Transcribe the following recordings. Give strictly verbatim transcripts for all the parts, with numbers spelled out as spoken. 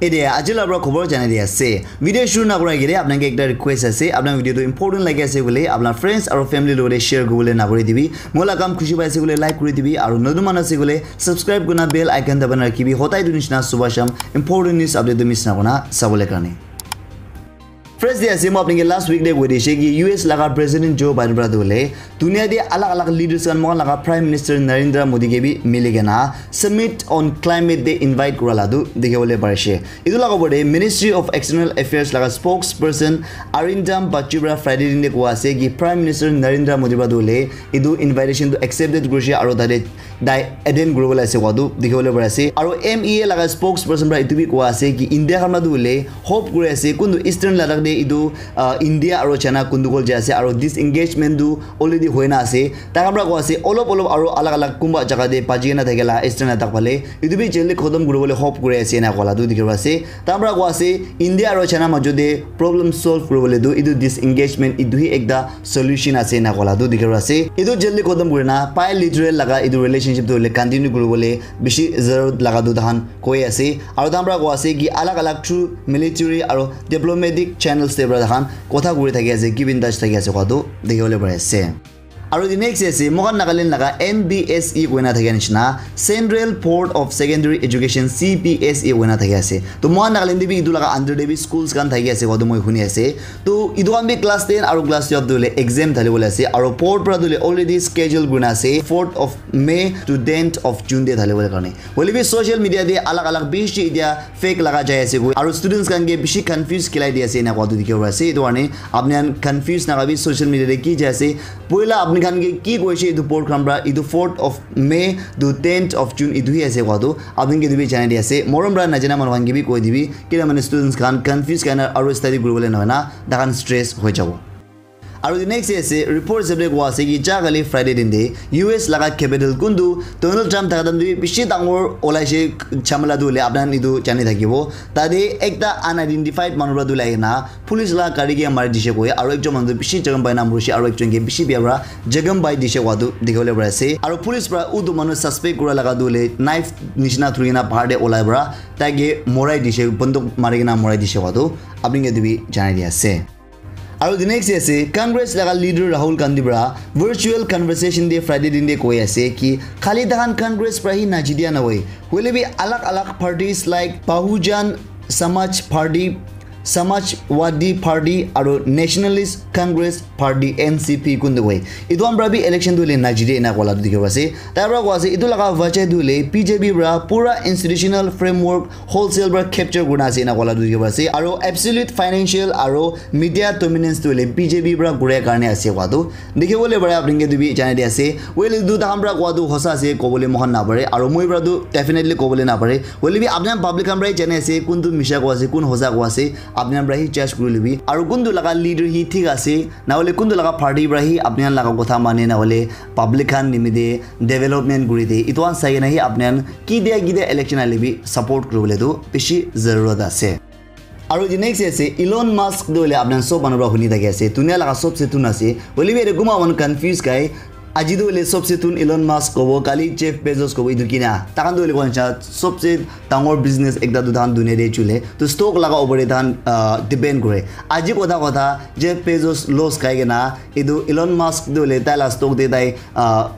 Ede aji la pra khobor janai di ase. Video shuru na kura agere apnai ke ekta request ase, apnai video tu important lagi ase koile apnai friends aro family logote share kuribole na pahori dibi. Moi la kam khushi paise koile like kuri dibi aro notun manu ase koile subscribe kurina bell icon dabai na rakhibi. Hodai etu nishina subah sham important news update tu miss na kurina sabole karne. First de ase, moi apni ke last week de koi dishe ki U S laga President Joe Biden pra tu hoile dunia de alag alag leaders khan, moikhan laga Prime Minister Narendra Modi ke bi mili kena Summit on Climate de invite kura la tu dikhi bole parishe. Etu laga opor de Ministry of External Affairs laga spokesperson Arindam Bagchi pra Friday din de koa ase ki Prime Minister Narendra Modi pra tu hoile etu invitation tu accepted kurishe aro tate tai attend kuribole ase koa tu dikhi bole pari ase. Aro M E A laga spokesperson pra etu bi koa ase ki India khan pra tu hoile hope kuri ase kuntu Eastern Ladakh de etu, ah, India aro China kuntu kol jai ase aro disengagement tu already hoi na ase. Tai khan pra koa ase olop olop aro alag alag kunba jaga de baji kena thake la Eastern Ladakh phale etu bi jaldi khotom kuribole hope kuri ase ena koa la tu dikhi pai ase. Tai khan pra koa ase India aro China majo de problem solve kuribole tu etu disengagement etu hi ekta solution ase ena koa la tu dikhi pai ase. Etu jaldi khotom kurina bilateral laga etu relationship tu hoile continue kuribole bishi zarur laga tu tahan koi ase. Aro tahan pra koa ase ki alag alag through military aro diplomatic channels de pra tahan kotha kuri thaki ase, keep in touch thaki ase koa tu dikhi bole pari ase. Aro the next ase, moikhan Nagaland laga N B S E koina thaki nishina, Central Board of Secondary Education, C B S E koina thaki ase. To moikhan Nagaland de bi etu laga under de bi schools khan thaki ase koa tu moi huni ase. To etu khan bi class ten aro class twelve tu hoile exam thali bole ase. Aro board pra tu hoile already schedule kurina ase, fourth of May to tenth of June de thali bole karne. Hoile bi social media de alag alag bishi etia fake laga jai ase koi. Aro students khan ke bishi confuse kilai di ase ena koa tu dikhi pai ase. Etu karne apni khan confuse na hobi social media de ki jai ase. Poila apni khan ke ki koise etu board khan pra etu fourth of May to tenth of June etu hi ase koa tu apni ke etu bi janai di ase. Morom pra najana manu khan ke bi koi dibi. Kila mane students khan confuse karna aro study kuribole nohoi na tahan stress hoi jabo. Aro the next day ase, report hisab de koa ase ki ja kali Friday din de U S laga capital kuntu Donald Trump thaka time de bishi dangor olaise jhamela tu hoile apni khan etu jani thakibo. Tate ekta unidentified manu pra tu hoile ahina police laga gari ke mari dishe koi aro ekjon manu tu bishi jakham pai na morishe aro ekjon ke bishi bia pra jakham pai dishe koa tu dikhi bole pari ase. Aro police pra utu manu suspect kura laga tu hoile knife nishina thuri kena bahar de olai pra tai ke morai dishe, bunduk mari kena morai dishe koa tu apni ke etu bi janai di ase. Aro the next day ase, Congress laga leader Rahul Gandhi pra virtual conversation de Friday din de koi ase ki khali tahan Congress pra hi najidia na hoi. Hoile bi alag alag parties like Bahujan Samaj Party, Samajwadi Party aro Nationalist Congress Party, N C P, kuntu koi. Etu khan pra bi election tu hoile najide ena koa la tu dikhi pai ase. Tai pra koa ase, etu laga wajah tu hoile B J P pra pura institutional framework wholesale pra capture kurina ase ena koa la tu dikhi pai ase. Aro absolute financial aro media dominance tu hoile B J P pra kuria karne ase koa tu dikhi bole pare, apni ke tu bi janai di ase. Well, etu tahan pra koa tu hosa ase kobole moikhan na pare, aro moi pra tu definitely kobole na pare. Hoile bi apni khan public khan pra hi janai ase, kuntu misha koa ase, kun hosa koa ase, apni khan pra hi judge kuri lobi. Aro kuntu laga leader hi thik ase, na hoile kuntu laga party pra hi apni khan laga kotha mane, na hoile public khan nimite development kuri de, etu khan sai kena hi apni khan kidia kidia election ahile bi support kuribole tu bishi zarurat ase. Aro the next ase, Elon Musk tu hoile apni khan sob manu pra huni thaki ase, dunia laga sobse thun ase. Hoile bi ete kunba manu confuse khai, aji tu hoile sobse thun Elon Musk kobo, kali Jeff Bezos kobo, etu kina. Tahan tu hoile koa nishina sobse dangor business ekta tu tahan dunia de chule. Tu stock laga opor de tahan, ah, depend kore. Aji kotha kotha Jeff Bezos loss khai kena, etu Elon Musk tu hoile tai la stock de tai, ah,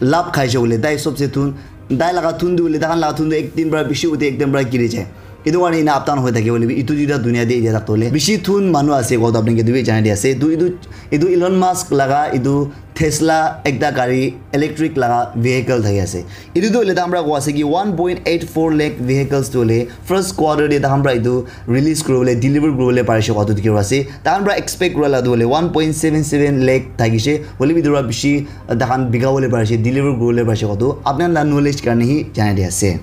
labh khaise hoile, tai sobse thun, tai laga thun tu hoile, tahan laga thun tu ek din pra bishi ute, ek din pra giri jai. Etu karne ena up down hoi thake hoile bi, etu duita dunia de etia tak tu hoile bishi thun manu ase koa tu apni ke tu bi janai di ase. Tu etu, etu Elon Musk laga etu Tesla ekta gari electric laga vehicle thaki ase. Etu tu hoile tahan pra koa ase ki one point eight four lakh vehicles tu hoile first quarter de tahan pra etu release kuribole, deliver kuribole parishe koa tu dikhi pai ase. Tahan pra expect kura la tu hoile one point seven seven lakh thakishe. Hoile bi etu pra bishi tahan bika bole parishe, deliver kuribole parishe koa tu apni khan la knowledge karne hi janai di ase.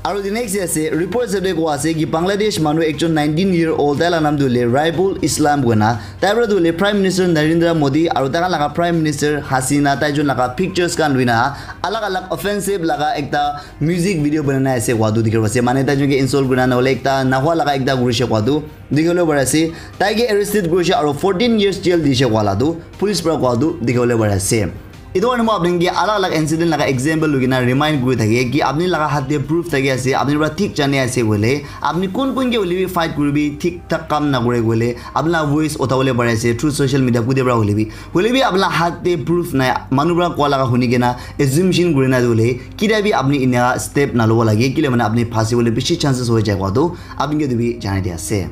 Aro the next day ase, report hisab de koa ase ki Bangladesh manu ekjon nineteen year old, tai la naam tu hoile Raibul Islam koina, tai pra tu hoile Prime Minister Narendra Modi aro tai khan laga Prime Minister Hasina, tai jon laga pictures khan luina alag alag offensive laga ekta music video banai na ase koa tu dikhi pai ase. Mane tai jon ke insult kurina na hoile ekta nahua laga ekta kurishe koa tu dikhi bole pari ase. Tai ke arrested kurishe aro fourteen years jail dishe koa la tu police pra koa tu dikhi bole pari ase. Etu karne moi apni ke alag alag incident laga example loi kena remind kuri thake ki apni laga hath te proof thaki ase, apni para thik jani ase koile, apni kun kun ke hoile bi fight kuri bi thik thak kam na kore koile, apni laga voice uthabole pari ase through social media kute para hoile bi. Hoile bi apni laga hath te proof nai, manu para koa laga huni kena assumption kuri na hoile, kida bi apni ena step na lobo lage, kile mane apni phasi bole bishi chances hoi jai koa tu apni ke tu bi janai di ase.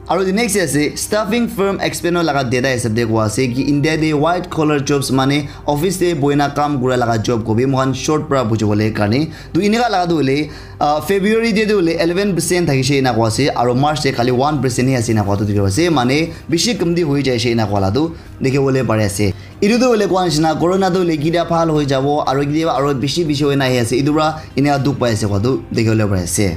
Aru the next ase, staffing firm Expedio laga data hisab te koa ase ki India te white collar jobs mane office te boina kam kura laga job ko bi moikhan short para buji bole karne. Tu eneka laga tu hoile, ah, February te tu hoile eleven percent thakishe ena koa ase, aru March te khali one percent hi ase ena koa tu dikhi ase. Mane bishi kamti hoi jaishe ena koa la tu dikhi bole pari ase. Etu tu hoile koa nishina corona tu hoile kitia bhal hoi jabo, aru kitia aru bishi bishi hoi na ahi ase. Etu para eneka dukh pai ase koa tu dikhi bole pari ase.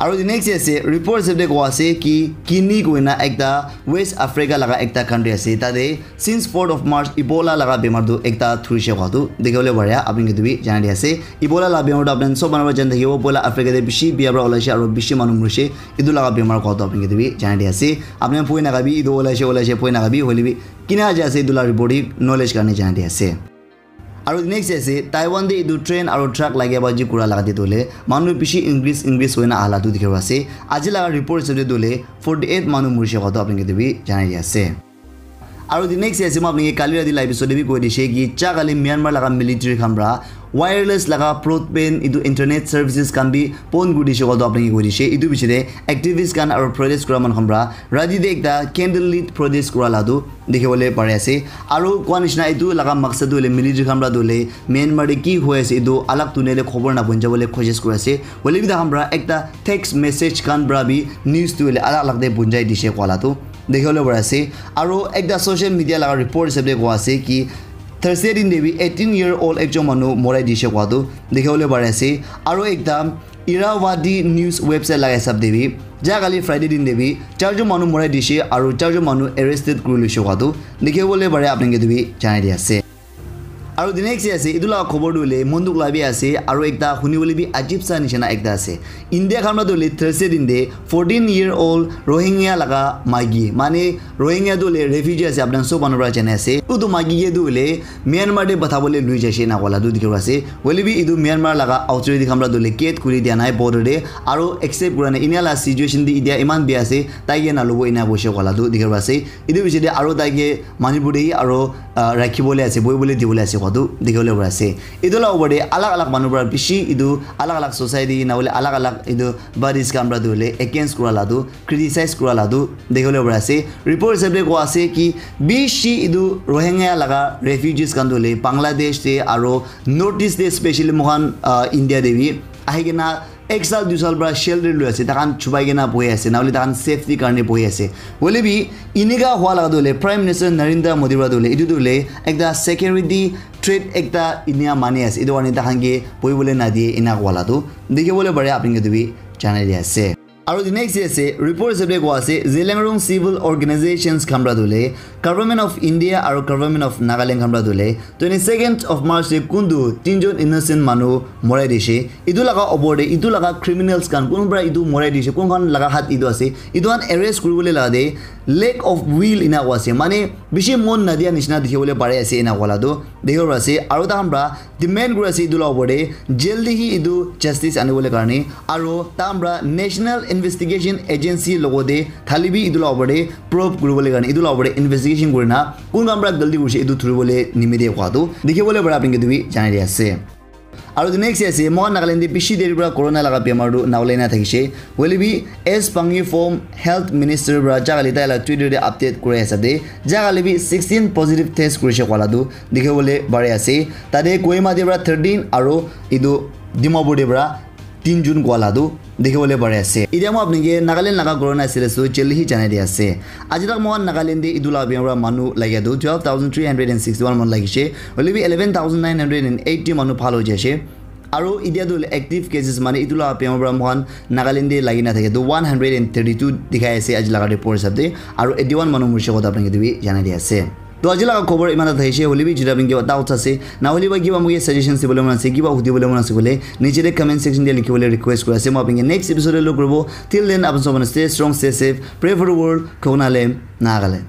Aru the next ase, report hisab te koa ase ki Guinea koina ekta West Africa laga ekta country ase. Tate since fourth of March Ebola laga bemar tu ekta thurishe koa tu dikhi bole pare, apni ke tu bi janai di ase. Ebola laga bemar tu apni sob manu para jani thakibo, poila Africa te bishi bia para olaishe aru bishi manu murishe. Etu laga bemar koa tu apni ke tu bi janai di ase. Apni poi na kabi etu olaishe olaishe poi na kabi hoile bi kina aja ase etu laga report hi knowledge karne janai di ase. Aru next ase, Taiwan te etu train aru truck lage baji kura laga te tu hoile manu bishi increase increase hoi na aha la tu dikhi ase. Aji laga report hisab te tu hoile forty eight manu murishe koa tu apni ke tu bi janai di ase. Aru the next ase, moi apni ke kali rati la episode te bi koi dishe ki ja kali Myanmar laga military khan para wireless laga broadband etu internet services khan bi bon kuri dishe koa tu apni ke koi dishe. Etu piche te activist khan aru protest kura manu khan para rati te ekta candle lit protest kura la tu dikhi bole pari ase. Aru koa nishina etu laga maksad tu hoile military khan para tu hoile Myanmar te ki hoi ase etu alag dunia te khobor na punja bole koshish kuri ase. Hoile bi takhan para ekta text message khan para bi news tu hoile alag alag te punjai dishe koa la tu dikhi bole pari ase. Aru ekta social media laga report hisab te koa ase ki Thursday din te bi eighteen year old ekjon manu morai dishe koa tu dikhi bole pari ase. Aru ekta Irrawaddy news website laga hisab te bi ja kali Friday din te bi charjon manu morai dishe aru charjon manu arrested kuri loishe koa tu dikhi bole pare, apni ke tu bi janai di ase. Aru the next ase, etu laga khobor tu hoile mon dukh la bi ase aru ekta huni bole bi ajib sa nishina ekta ase. India khan para tu hoile Thursday din te fourteen year old Rohingya laga maiki, mane Rohingya tu hoile refugee ase, apni khan sob manu para jani ase. Utu maiki ke tu hoile Myanmar te patha bole lui jaishe ena koa la tu dikhi ase. Hoile bi etu Myanmar laga authority khan para tu hoile gate khuli dia nai border te, aru accept kura nai. Enia la situation te etia eman bia ase, tai ke na lobo ena koishe koa la tu dikhi ase. Etu piche te aru tai ke Manipur te hi aru, ah, rakhi bole ase, bohi bole di bole ase koa tu dikhi bole pari ase. Etu la upor te alag alag manu para bishi etu alag alag society na hoile alag alag etu bodies khan para tu hoile against kura la tu, criticize kura la tu dikhi bole pari ase. Report hisab te koa ase ki bishi etu Rohingya laga refugees khan tu hoile Bangladesh te aru North East te specially moikhan, ah, India te bi ahi kena ek saal dui saal para shelter loi ase, takhan chupai kena bohi ase, na hoile takhan safety karne bohi ase. Hoile bi enika hua laga tu hoile Prime Minister Narendra Modi para tu hoile etu tu hoile ekta security threat ekta enia mani ase. Etu karne takhan ke bohi bole na diye ena koa la tu dikhi bole pare, apni ke tu bi janai di ase. Aru the next ase, report hisab te koa ase, Zeliangrong civil organizations khan para tu hoile, Government of India aru Government of Nagaland khan para tu hoile, twenty second of March te kuntu tinjon innocent manu morai dishe. Etu laga upor te, etu laga criminals khan, kun para etu morai dishe, kun khan laga hath etu ase, etu khan arrest kuri bole laga te lack of will ena koa ase. Mane bishi mon na dia nishina dikhi bole pari ase ena koa la tu dikhi bole pari ase. Aru takhan para demand kuri ase etu la upor te, jaldi hi etu justice ani bole karne, aru takhan para National Investigation Agency logote thali bi etu la upor te probe kuri bole karne, etu la upor te investigation kuri na kun khan para galti kurishe etu thuri bole nimite koa tu dikhi bole pare, apni ke tu bi janai di ase. Aru the next ase, moikhan Nagaland te bishi deri para corona laga bemar tu na ulai na thakishe. Hoile bi, S Pangyu Phom, Health Minister para ja kali tai la Twitter te update kuri ase de, ja kali bi sixteen positive test kurishe koa la tu dikhi bole pari ase. Tate Kohima te para thirteen aru etu Dimapur te para tinjon koa la tu dikhi bole pari ase. Etia moi apni ke Nagaland laga corona status tu jaldi hi janai di ase. Aji tak moikhan Nagaland te etu la bemar para manu lagia tu twelve thousand three hundred and sixty one manu lagishe. Hoile bi eleven thousand nine hundred and eighty manu bhal hoi jaishe. Aru etia tu active cases mane etu la bemar para moikhan Nagaland te lagi na thake tu one hundred and thirty two dikhai ase aji laga report hisab te. Aru eighty one manu murishe koa tu apni ke tu bi janai di ase. To aji laga khobor iman ta thaishe, hoile bi jodi apni kiba doubts ase, na hoile ba kiba moke suggestions dibole mon ase, kiba hudi bole mon ase koile, niche te comment section te likhi bole request kuri ase. Moi apni ke next episode te log koribo. Till then, apni sob manu stay strong, stay safe, pray for the world, Khoknalem, Nagaland.